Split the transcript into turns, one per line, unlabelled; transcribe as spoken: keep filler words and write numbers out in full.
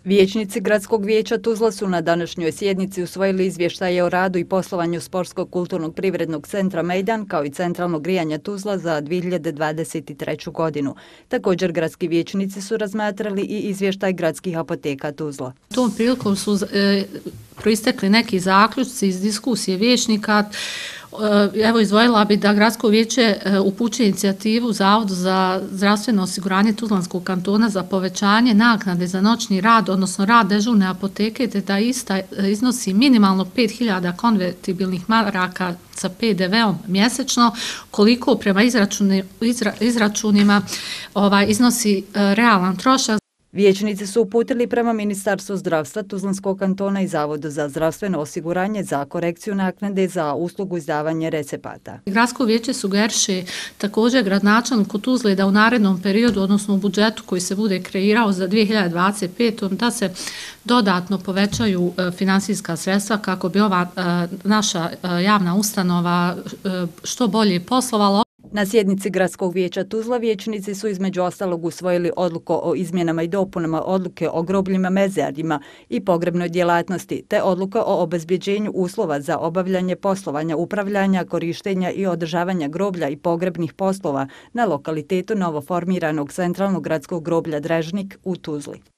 Vijećnici Gradskog vijeća Tuzla su na današnjoj sjednici usvojili izvještaje o radu i poslovanju Sportskog kulturnog privrednog centra Mejdan kao i centralnog grijanja Tuzla za dvije hiljade dvadeset treću. godinu. Također gradski vijećnici su razmatrali i izvještaj gradskih apoteka Tuzla.
Tom prilikom su e, proistekli neki zaključci iz diskusije vijećnika. Evo, izdvojila bi da Gradsko vijeće upućuje inicijativu Zavodu za zdravstveno osiguranje Tuzlanskog kantona za povećanje naknade za noćni rad, odnosno rad dežurne apoteke, te da ista iznosi minimalno pet hiljada konvertibilnih maraka sa pe de veom mjesečno, koliko prema izračuni, izra, izračunima ovaj, iznosi realan trošak.
Vijećnici su uputili prema Ministarstvu zdravstva Tuzlanskog kantona i Zavodu za zdravstveno osiguranje za korekciju naknade za uslugu izdavanja recepata.
Gradsko vijeće sugeriše također gradonačelniku Tuzle da u narednom periodu, odnosno u budžetu koji se bude kreirao za dvije hiljade dvadeset petu. da se dodatno povećaju finansijska sredstva kako bi ova naša javna ustanova što bolje poslovala.
Na sjednici Gradskog vijeća Tuzla vijećnici su između ostalog usvojili odluku o izmjenama i dopunama odluke o grobljima, mezarjima i pogrebnoj djelatnosti, te odluka o obezbjeđenju uslova za obavljanje poslovanja, upravljanja, korištenja i održavanja groblja i pogrebnih poslova na lokalitetu novoformiranog centralnog gradskog groblja Drežnik u Tuzli.